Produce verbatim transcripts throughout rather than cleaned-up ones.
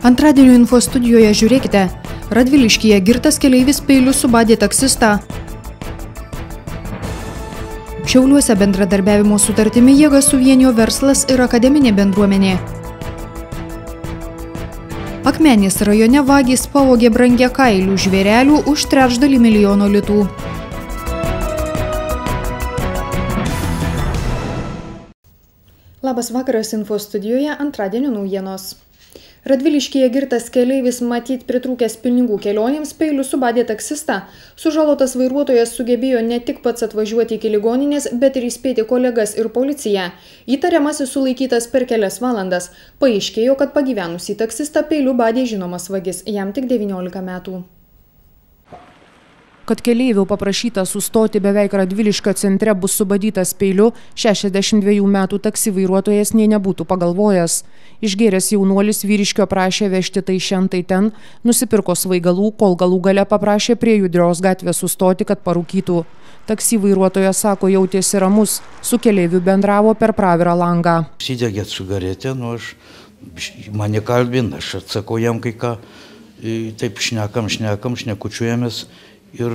Antradienio info studijoje žiūrėkite. Radviliškyje girtas keleivis peiliu subadė taksistą. Šiauliuose bendradarbiavimo sutartimi jėgas suvienijo verslas ir akademinė bendruomenė. Akmenės rajone vagys pavogė brangiakailių žvėrelių už trečdalį milijono litų. Labas vakaras info studijoje, antradienio naujienos. Radviliškyje girtas keleivis matyt pritrūkęs pinigų kelionėms peiliu subadė taksistą. Sužalotas vairuotojas sugebėjo ne tik pats atvažiuoti iki ligoninės, bet ir įspėti kolegas ir policiją. Įtariamasis sulaikytas per kelias valandas. Paaiškėjo, kad pagyvenusį taksistą peiliu badė žinomas vagis, jam tik devyniolika metų. Kad keleivių paprašyta sustoti beveik Radviliškio centre bus subadytas peiliu, šešiasdešimt dviejų metų taksi vairuotojas nė nebūtų pagalvojęs. Išgėręs jaunuolis vyriškio prašė vežti tai šen tai ten, nusipirko svaigalų, kol galų gale paprašė prie Judrios gatvės sustoti, kad parūkytų. Taksi vairuotojas sako, jautėsi ramus, su keleiviu bendravo per pravirą langą. Įsidegė cigaretę, nu aš mane kalbina, aš atsakau jam kai ką, taip šnekam, šnekam, šnekučiuojamės. Ir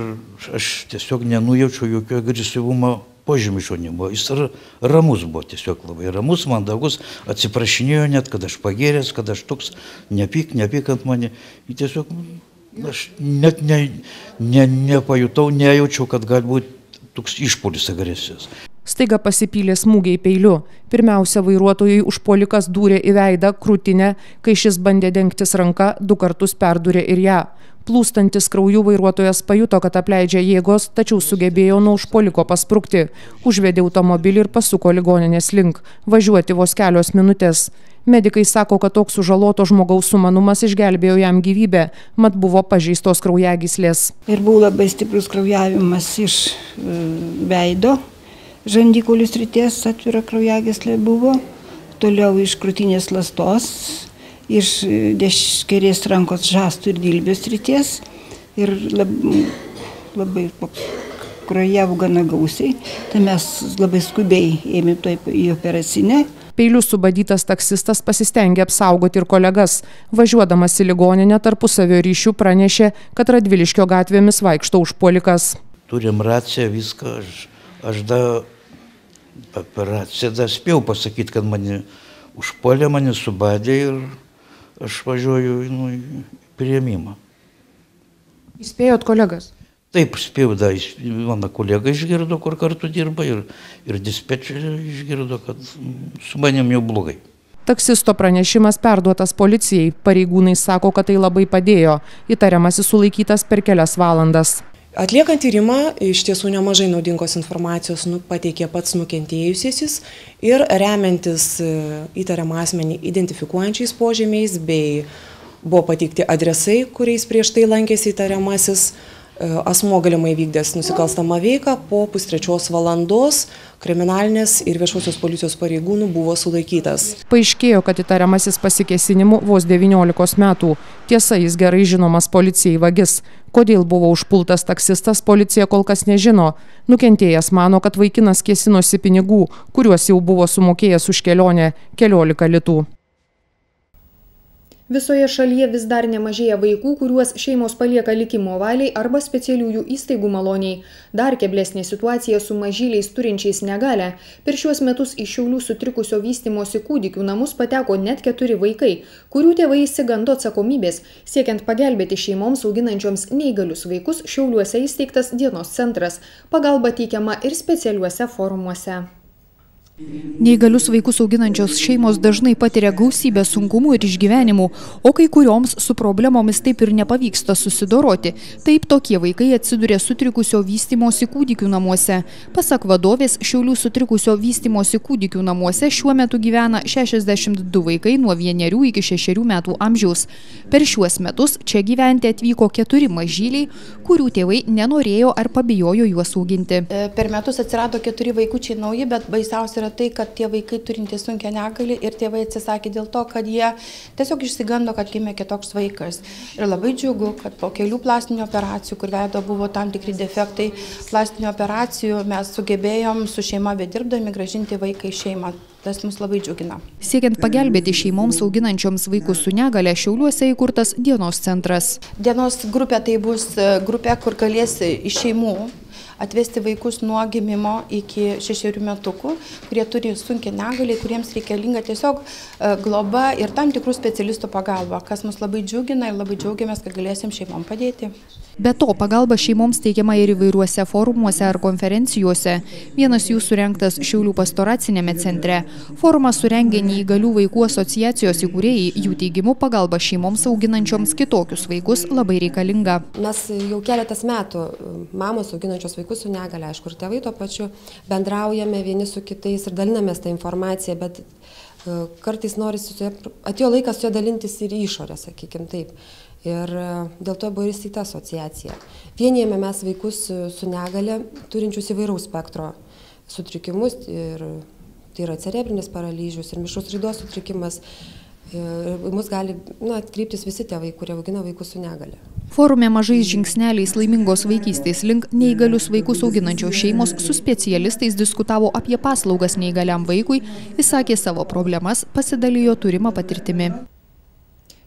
aš tiesiog nenujaučiau jokio agresyvumo požymių iš jo nebuvo. Jis ramus buvo, tiesiog labai ramus, mandagus, atsiprašinėjo net, kad aš pagėręs, kad aš toks nepyk, nepyk ant mane. Ir tiesiog aš net ne, ne, nepajutau, nejaučiau, kad galbūt toks išpuolis agresijos. Staiga pasipylė smūgiai peiliu. Pirmiausia, vairuotojui užpuolikas dūrė į veidą, krūtinę, kai šis bandė dengtis ranka, du kartus perdūrė ir ją. Plūstantis krauju vairuotojas pajuto, kad apleidžia jėgos, tačiau sugebėjo nuo užpuoliko pasprukti. Užvedė automobilį ir pasuko ligoninės link. Važiuoti vos kelios minutės. Medikai sako, kad toks sužaloto žmogaus sumanumas išgelbėjo jam gyvybę, mat buvo pažeistos kraujagyslės. Ir buvo labai stiprus kraujavimas iš veido, žandikaulių srities atvira kraujagyslė buvo, toliau iš krūtinės ląstos, iš kairės rankos žastų ir dilbio srities ir labai, labai kraujavo gana gausiai, tai mes labai skubiai ėmėm į operacinę. Peiliu subadytas taksistas pasistengė apsaugoti ir kolegas. Važiuodamas į ligoninę tarpusavio ryšių pranešė, kad Radviliškio gatvėmis vaikšto užpuolikas. Turim raciją, viską, aš, aš da, per raciją da spėjau pasakyti, kad mane užpuolė, mane subadė ir aš važiuoju nu, į priėmimą. Įspėjot kolegas? Taip, spėjau, da, mano kolega išgirdo, kur kartu dirba, ir, ir dispečerė išgirdo, kad su manim jau blogai. Taksisto pranešimas perduotas policijai. Pareigūnai sako, kad tai labai padėjo. Įtariamasis sulaikytas per kelias valandas. Atliekant tyrimą, iš tiesų nemažai naudingos informacijos pateikė pats nukentėjusysis ir remiantis įtariamą asmenį identifikuojančiais požymiais bei buvo pateikti adresai, kuriais prieš tai lankėsi įtariamasis. Asmuo galimai vykdęs nusikalstamą veiką po pustrečios valandos kriminalinės ir viešosios policijos pareigūnų buvo sulaikytas. Paaiškėjo, kad įtariamasis pasikėsinimu vos devyniolikos metų. Tiesa, jis gerai žinomas policijai vagis. Kodėl buvo užpultas taksistas, policija kol kas nežino. Nukentėjęs mano, kad vaikinas kėsinosi pinigų, kuriuos jau buvo sumokėjęs už kelionę keliolika litų. Visoje šalyje vis dar nemažėja vaikų, kuriuos šeimos palieka likimo valiai arba specialiųjų įstaigų maloniai. Dar keblesnė situacija su mažyliais turinčiais negalią. Per šiuos metus į Šiaulių sutrikusio vystymosi kūdikių namus pateko net keturi vaikai, kurių tėvai išsigando atsakomybės. Siekiant pagelbėti šeimoms auginančioms neįgalius vaikus, Šiauliuose įsteigtas dienos centras. Pagalba teikiama ir specialiuose forumuose. Neįgalius vaikus auginančios šeimos dažnai patiria gausybę sunkumų ir išgyvenimų, o kai kurioms su problemomis taip ir nepavyksta susidoroti. Taip tokie vaikai atsiduria sutrikusio vystymosi kūdikių namuose. Pasak vadovės, Šiaulių sutrikusio vystymosi kūdikių namuose šiuo metu gyvena šešiasdešimt du vaikai nuo vienerių iki šešerių metų amžiaus. Per šiuos metus čia gyventi atvyko keturi mažyliai, kurių tėvai nenorėjo ar pabijojo juos auginti. Per metus atsirado keturi vaikučiai nauji, bet baisiausia yra tai, kad tie vaikai turintys sunkią negalį ir tėvai atsisakė dėl to, kad jie tiesiog išsigando, kad gimė kitoks vaikas. Ir labai džiugu, kad po kelių plastinių operacijų, kur veido buvo tam tikri defektai, plastinių operacijų mes sugebėjom su šeima bedirbdami grąžinti vaiką į šeimą. Tas mus labai džiugina. Siekiant pagelbėti šeimoms auginančioms vaikus su negale, Šiauliuose įkurtas dienos centras. Dienos grupė tai bus grupė, kur galės iš šeimų atvesti vaikus nuo gimimo iki šešerių metukų, kurie turi sunkią negalį, kuriems reikalinga tiesiog globa ir tam tikrų specialistų pagalba, kas mus labai džiugina ir labai džiaugiamės, kad galėsim šeimom padėti. Be to, pagalba šeimoms teikiama ir įvairiuose forumuose ar konferencijose. Vienas jų surengtas Šiaulių pastoracinėme centre. Forumą surengė Neįgalių vaikų asociacijos įkūrėjai, jų teigimu pagalba šeimoms auginančioms kitokius vaikus labai reikalinga. Mes jau keletas metų, mamos auginančios vaikus su negale, aišku, ir tėvai tuo pačiu, bendraujame vieni su kitais ir dalinamės tą informaciją, bet kartais norisi, atėjo laikas su ja dalintis ir išorę, sakykim taip. Ir dėl to buvo ir įsteigta asociacija. Vienijame mes vaikus su negale, turinčius įvairaus spektro sutrikimus, ir tai yra cerebrinis paralyžius ir mišrus raidos sutrikimas. Ir mus gali nu, atkreiptis visi tėvai, kurie augina vaikus su negale. Forume mažais žingsneliais laimingos vaikystės link neįgalius vaikus auginančios šeimos su specialistais diskutavo apie paslaugas neįgaliam vaikui, išsakė savo problemas, pasidalijo turimą patirtimi.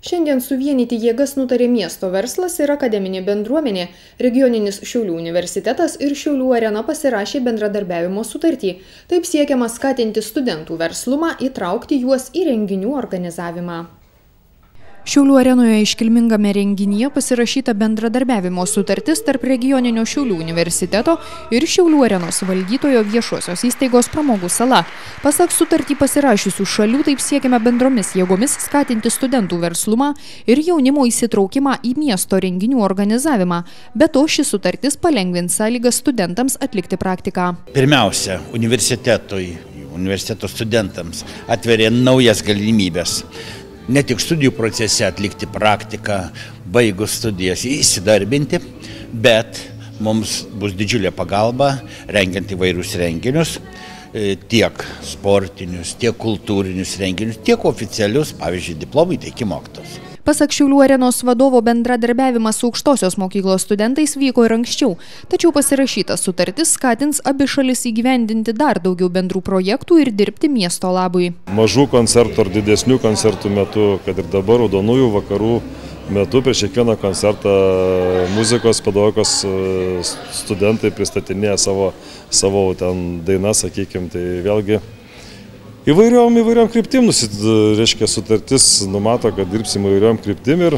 Šiandien suvienyti jėgas nutarė miesto verslas ir akademinė bendruomenė. Regioninis Šiaulių universitetas ir Šiaulių arena pasirašė bendradarbiavimo sutartį. Taip siekiama skatinti studentų verslumą, įtraukti juos į renginių organizavimą. Šiaulių arenoje iškilmingame renginyje pasirašyta bendradarbiavimo sutartis tarp regioninio Šiaulių universiteto ir Šiaulių arenos valdytojo viešosios įstaigos Pramogų sala. Pasak sutartį pasirašiusių šalių, taip siekiame bendromis jėgomis skatinti studentų verslumą ir jaunimo įsitraukimą į miesto renginių organizavimą. Be to, ši sutartis palengvins sąlygas studentams atlikti praktiką. Pirmiausia, universitetui, universiteto studentams atveria naujas galimybės. Ne tik studijų procese atlikti praktiką, baigus studijas įsidarbinti, bet mums bus didžiulė pagalba rengiant įvairius renginius, tiek sportinius, tiek kultūrinius renginius, tiek oficialius, pavyzdžiui, diplomų įteikimo aktus. Pasak Šiaulių arenos vadovo, bendradarbiavimas su aukštosios mokyklos studentais vyko ir anksčiau, tačiau pasirašyta sutartis skatins abi šalis įgyvendinti dar daugiau bendrų projektų ir dirbti miesto labui. Mažų koncertų ar didesnių koncertų metu, kad ir dabar raudonųjų vakarų metu prieš kiekvieną koncertą muzikos pedagogikos studentai pristatinėja savo, savo ten dainas, sakykime, tai vėlgi Įvairiom, įvairiom kryptim, reiškia, sutartis numato, kad dirbsim įvairiom kryptim ir,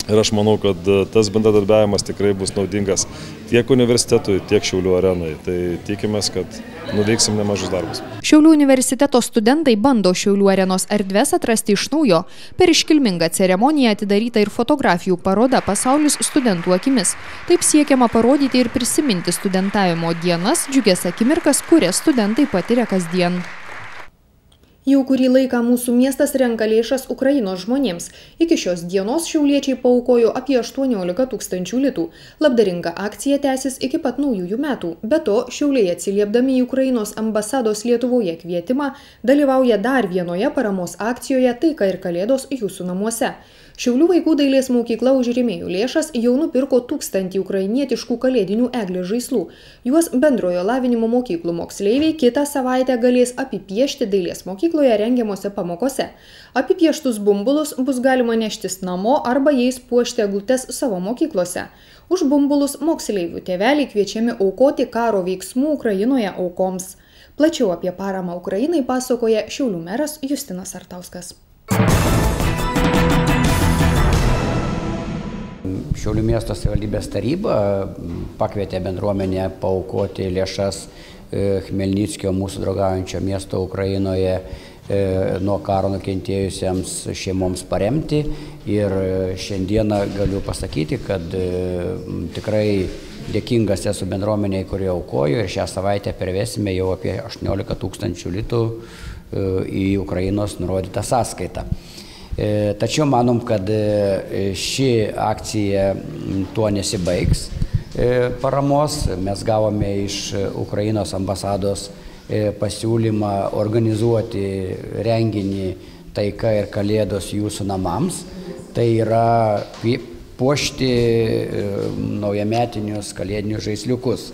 ir aš manau, kad tas bendradarbiavimas tikrai bus naudingas tiek universitetui, tiek Šiaulių arenai. Tai tikimės, kad nuveiksim nemažus darbus. Šiaulių universiteto studentai bando Šiaulių arenos erdves atrasti iš naujo. Per iškilmingą ceremoniją atidaryta ir fotografijų paroda Pasaulis studentų akimis. Taip siekiama parodyti ir prisiminti studentavimo dienas, džiugias akimirkas, kurias studentai patiria kasdien. Jau kurį laiką mūsų miestas renka lėšas Ukrainos žmonėms. Iki šios dienos šiauliečiai paaukojo apie aštuoniolika tūkstančių litų. Labdaringa akcija tęsis iki pat naujųjų metų. Be to, Šiauliai atsiliepdami į Ukrainos ambasados Lietuvoje kvietimą, dalyvauja dar vienoje paramos akcijoje Taika ir Kalėdos jūsų namuose. Šiaulių vaikų dailės mokykla už rėmėjų lėšas jau nupirko tūkstantį ukrainietiškų kalėdinių eglės žaislų. Juos bendrojo lavinimo mokyklų moksleiviai kitą savaitę galės apipiešti dailės mokykloje rengiamose pamokose. Apipieštus bumbulus bus galima neštis namo arba jais puošti eglutes savo mokyklose. Už bumbulus moksleivių tėveliai kviečiami aukoti karo veiksmų Ukrainoje aukoms. Plačiau apie paramą Ukrainai pasakoja Šiaulių meras Justinas Artauskas. Šiaulių miesto savivaldybės taryba pakvietė bendruomenę paaukoti lėšas Chmelnickio, mūsų draugaujančio miesto Ukrainoje, nuo karo nukentėjusiems šeimoms paremti. Ir šiandieną galiu pasakyti, kad tikrai dėkingas esu bendruomeniai, kurie aukojo, ir šią savaitę pervesime jau apie aštuoniolika tūkstančių litų į Ukrainos nurodytą sąskaitą. Tačiau manom, kad ši akcija tuo nesibaigs paramos. Mes gavome iš Ukrainos ambasados pasiūlymą organizuoti renginį Taika ir Kalėdos jūsų namams. Tai yra puošti naujametinius kalėdinius žaisliukus.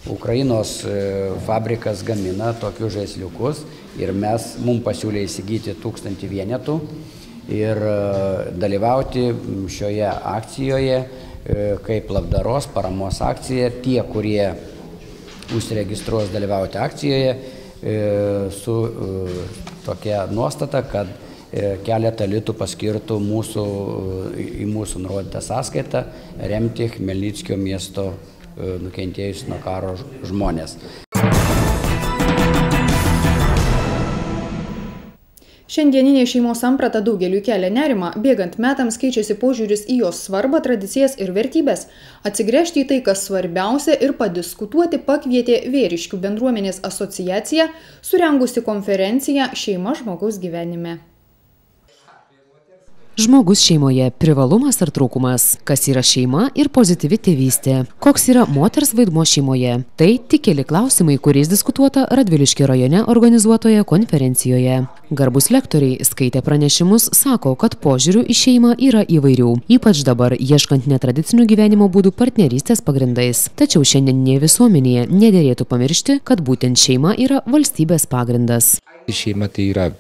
Ukrainos fabrikas gamina tokius žaisliukus ir mes, mums pasiūlė įsigyti tūkstantį vienetų ir dalyvauti šioje akcijoje kaip labdaros paramos akcija. Tie, kurie užsiregistruos dalyvauti akcijoje, su tokia nuostata, kad keletą litų paskirtų mūsų, į mūsų nurodytą sąskaitą remti Chmelnickio miesto nukentėjus nuo karo žmonės. Šiandieninė šeimos samprata daugeliui kelia nerimą, bėgant metams keičiasi požiūris į jos svarbą, tradicijas ir vertybės. Atsigręžti į tai, kas svarbiausia, ir padiskutuoti pakvietė Vėriškių bendruomenės asociacija, surengusi konferenciją Šeima žmogaus gyvenime. Žmogus šeimoje – privalumas ar trūkumas? Kas yra šeima ir pozityvi tėvystė? Koks yra moters vaidmuo šeimoje? Tai tik keli klausimai, kuriais diskutuota Radviliškio rajone organizuotoje konferencijoje. Garbūs lektoriai skaitę pranešimus sako, kad požiūrių į šeimą yra įvairių, ypač dabar ieškant netradicinių gyvenimo būdų partnerystės pagrindais. Tačiau šiandieninėje visuomenėje nederėtų pamiršti, kad būtent šeima yra valstybės pagrindas. Šeima tai yra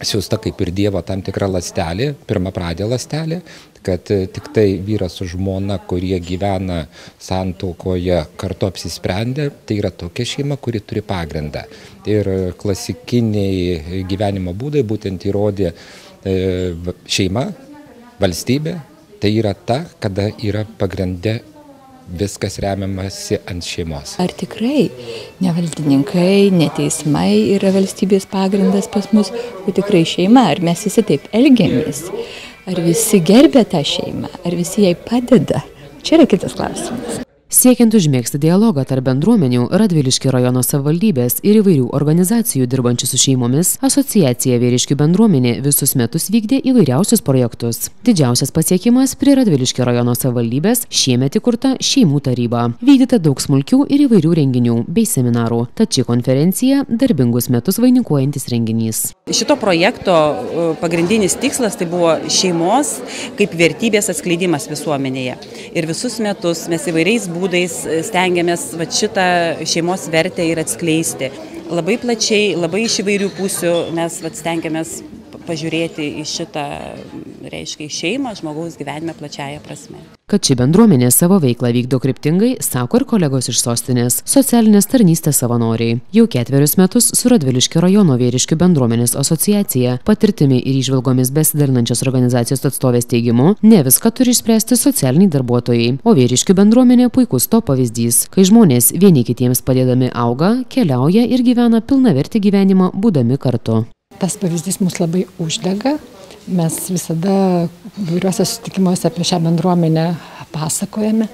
siųsta kaip ir Dievo tam tikra ląstelė, pirmapradė ląstelė, kad tik tai vyras su žmona, kurie gyvena santuokoje, kartu apsisprendė, tai yra tokia šeima, kuri turi pagrindą. Ir klasikiniai gyvenimo būdai būtent įrodė šeima, valstybė, tai yra ta, kada yra pagrinde viskas remiamasi ant šeimos. Ar tikrai ne valdininkai, ne teismai yra valstybės pagrindas pas mus, o tikrai šeima? Ar mes visi taip elgiamės? Ar visi gerbė tą šeimą? Ar visi jai padeda? Čia yra kitas klausimas. Siekiant užmėgsti dialogą tarp bendruomenių, Radviliškio rajono savivaldybės ir įvairių organizacijų dirbančių su šeimomis, asociacija Vėriškių bendruomenė visus metus vykdė įvairiausius projektus. Didžiausias pasiekimas prie Radviliškio rajono savivaldybės šiemet įkurta šeimų taryba. Vykdyta daug smulkių ir įvairių renginių bei seminarų. Tad ši konferencija darbingus metus vainikuojantis renginys. Šito projekto pagrindinis tikslas tai buvo šeimos kaip vertybės atskleidimas visuomenėje. Ir visus metus mes įvairiais būdais stengiamės va, šitą šeimos vertę ir atskleisti. Labai plačiai, labai iš įvairių pusių mes va, stengiamės pažiūrėti į šitą, reiškia, šeimą žmogaus gyvenime plačiaja prasme. Kad ši bendruomenė savo veiklą vykdo kryptingai, sako ir kolegos iš sostinės, socialinės tarnystės savanoriai. Jau ketverius metus su Radviliškio rajono Vėriškių bendruomenės asociacija, patirtimi ir įžvalgomis besidalinančios organizacijos atstovės teigimu, ne viską turi išspręsti socialiniai darbuotojai, o Vėriškių bendruomenė puikus to pavyzdys, kai žmonės vieni kitiems padėdami auga, keliauja ir gyvena pilnavertį gyvenimą būdami kartu. Tas pavyzdys mus labai uždega. Mes visada įvairiuose susitikimuose apie šią bendruomenę pasakojame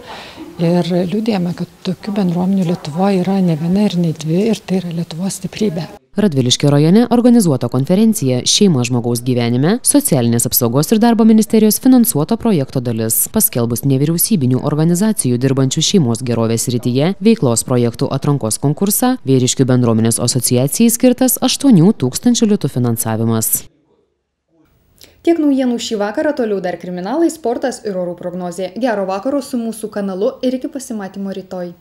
ir liudijame, kad tokių bendruomenių Lietuvoje yra ne viena ir ne dvi, ir tai yra Lietuvos stiprybė. Radviliškio rajone organizuota konferencija Šeima žmogaus gyvenime socialinės apsaugos ir darbo ministerijos finansuoto projekto dalis. Paskelbus nevyriausybinių organizacijų dirbančių šeimos gerovės srityje veiklos projektų atrankos konkursą, Vėriškių bendruomenės asociacijai skirtas aštuonių tūkstančių litų finansavimas. Tiek naujienų šį vakarą, toliau dar kriminalai, sportas ir orų prognozė. Gero vakaro su mūsų kanalu ir iki pasimatymo rytoj.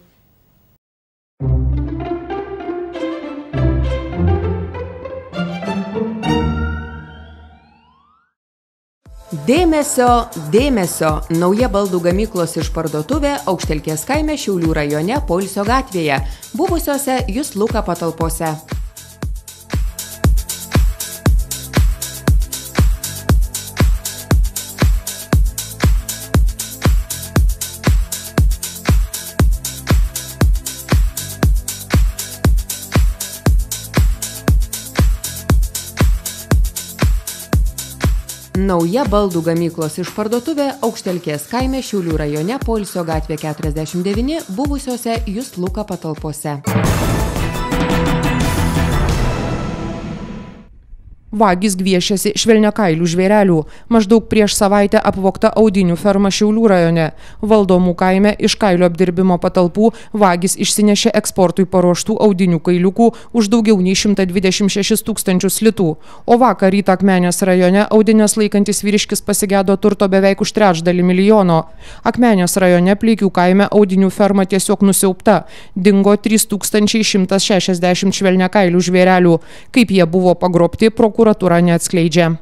Dėmesio, dėmesio! Nauja baldų gamyklos išparduotuvė Aukštelkės kaime Šiaulių rajone Poilsio gatvėje, buvusiose Just Luka patalpose. Nauja baldų gamyklos išparduotuvė Aukštelkės kaime Šiaulių rajone Poilsio gatvė keturiasdešimt devyni, buvusiose Just Luka patalpose. Vagys gviešiasi švelniakailių žvėrelių. Maždaug prieš savaitę apvogta audinių ferma Šiaulių rajone. Valdomų kaime iš kailio apdirbimo patalpų vagys išsinešė eksportui paruoštų audinių kailiukų už daugiau nei šimtą dvidešimt šešis tūkstančius litų. O vakar rytą Akmenės rajone audinės laikantis vyriškis pasigėdo turto beveik už trečdalį milijono. Akmenės rajone Pleikių kaime audinių ferma tiesiog nusiaubta. Dingo trys tūkstančiai šimtas šešiasdešimt švelniakailių žvėrelių. Kaip jie buvo pagrobti, prokuratūra neatskleidžia.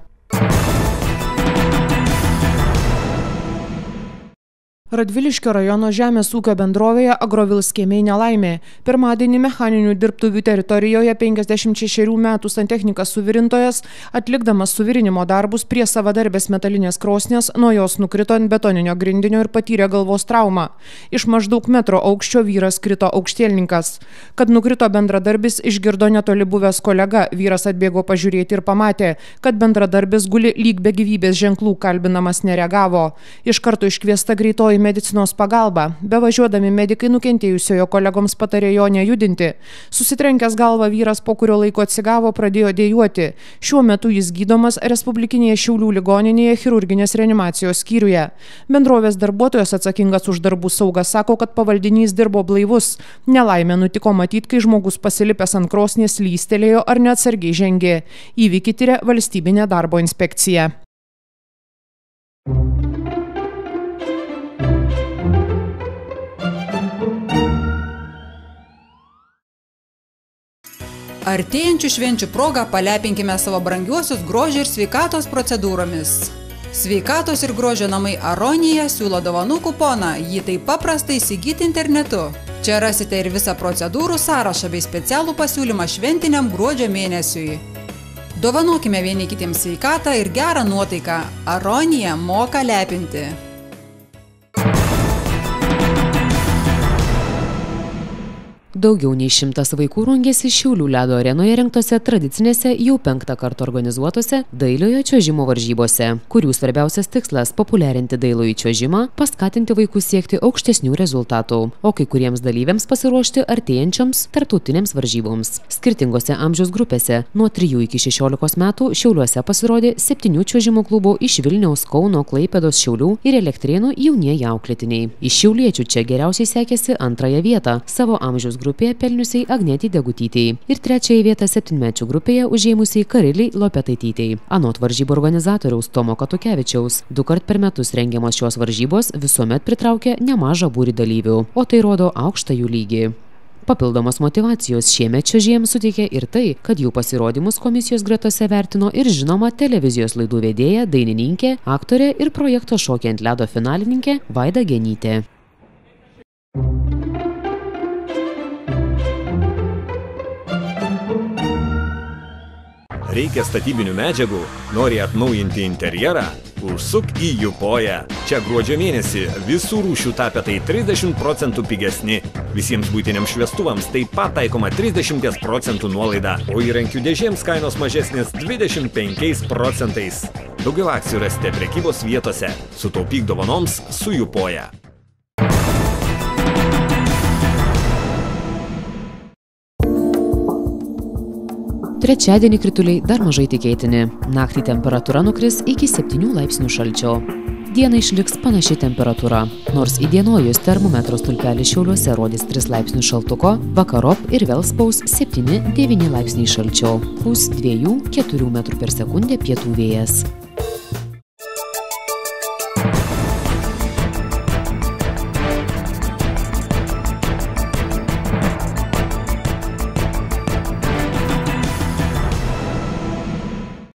Radviliškio rajono žemės ūkio bendrovėje Agrovils kiemiai nelaimė. Pirmadienį mechaninių dirbtuvių teritorijoje penkiasdešimt šešerių metų santechnikas suvirintojas, atlikdamas suvirinimo darbus prie savadarbės metalinės krosnės, nuo jos nukrito ant betoninio grindinio ir patyrė galvos traumą. Iš maždaug metro aukščio vyras krito aukštielninkas. Kad nukrito bendradarbis, išgirdo netoli buvęs kolega. Vyras atbėgo pažiūrėti ir pamatė, kad bendradarbis guli lyg be gyvybės ženklų, kalbinamas nereagavo. Iš karto iškviesta greitoji medicinos pagalba. Bevažiuodami medikai nukentėjusiojo kolegoms patarė jo nejudinti. Susitrenkęs galvą vyras po kurio laiko atsigavo, pradėjo dejuoti. Šiuo metu jis gydomas Respublikinėje Šiaulių ligoninėje chirurginės reanimacijos skyriuje. Bendrovės darbuotojas atsakingas už darbų saugą sako, kad pavaldinys dirbo blaivus. Nelaimė nutiko matyt, kai žmogus pasilipęs ant krosnės lystelėjo ar neatsargiai žengė. Įvykį tiria valstybinė darbo inspekcija. Artėjančių švenčių progą palepinkime savo brangiuosius grožio ir sveikatos procedūromis. Sveikatos ir grožio namai Aronija siūlo dovanų kuponą, jį taip paprastai įsigyti internetu. Čia rasite ir visą procedūrų sąrašą bei specialų pasiūlymą šventiniam gruodžio mėnesiui. Dovanokime vieni kitiems sveikatą ir gerą nuotaiką. Aronija moka lepinti. Daugiau nei šimtas vaikų rungėsi Šiaulių ledo arenoje rengtose tradicinėse jau penktą kartą organizuotose dailiojo čiuožimo varžybose, kurių svarbiausias tikslas – populiarinti dailųjį čiuožimą, paskatinti vaikus siekti aukštesnių rezultatų, o kai kuriems dalyviams pasiruošti artėjančioms tarptautinėms varžyboms. Skirtingose amžiaus grupėse nuo trijų iki šešiolikos metų Šiauliuose pasirodė septynių čiuožimo klubų iš Vilniaus, Kauno, Klaipėdos, Šiaulių ir Elektrėnų jaunieji auklėtiniai. Iš šiauliečių čia geriausiai sekėsi antrąją vietą savo amžiaus grupėje. grupėje pelniusiai Agnetį Degutytei ir trečiąją vietą septynmečių grupėje užėmusiai Kariliai Lopetaitytei. Anot varžybų organizatoriaus Tomo Katukevičiaus, du kart per metus rengiamos šios varžybos visuomet pritraukia nemažą būrį dalyvių, o tai rodo aukštą jų lygį. Papildomos motyvacijos šiemet čiuožėjams suteikė ir tai, kad jų pasirodymus komisijos gretose vertino ir žinoma televizijos laidų vedėja, dainininkė, aktorė ir projekto Šokiai ant ledo finalininkė Vaida Genytė. Reikia statybinių medžiagų, nori atnaujinti interjerą, užsuk į Jupoją. Čia gruodžio mėnesį visų rūšių tapetai trisdešimt procentų pigesni. Visiems buitiniams šviestuvams taip pat taikoma trisdešimt procentų nuolaida, o įrankių dėžėms kainos mažesnės dvidešimt penkiais procentais. Daugiau akcijų rasite prekybos vietose. Sutaupyk dovanoms su Jupoja. Trečiadienį krituliai dar mažai tikėtini. Naktį temperatūra nukris iki septynių laipsnių šalčio. Dieną išliks panaši temperatūra, nors įdienojus termometro stulpelis Šiauliuose rodys tris laipsnius šaltuko, vakarop ir vėl spaus septyni devyni laipsniai šalčio, pūs dviejų keturių metrų per sekundę pietų vėjas.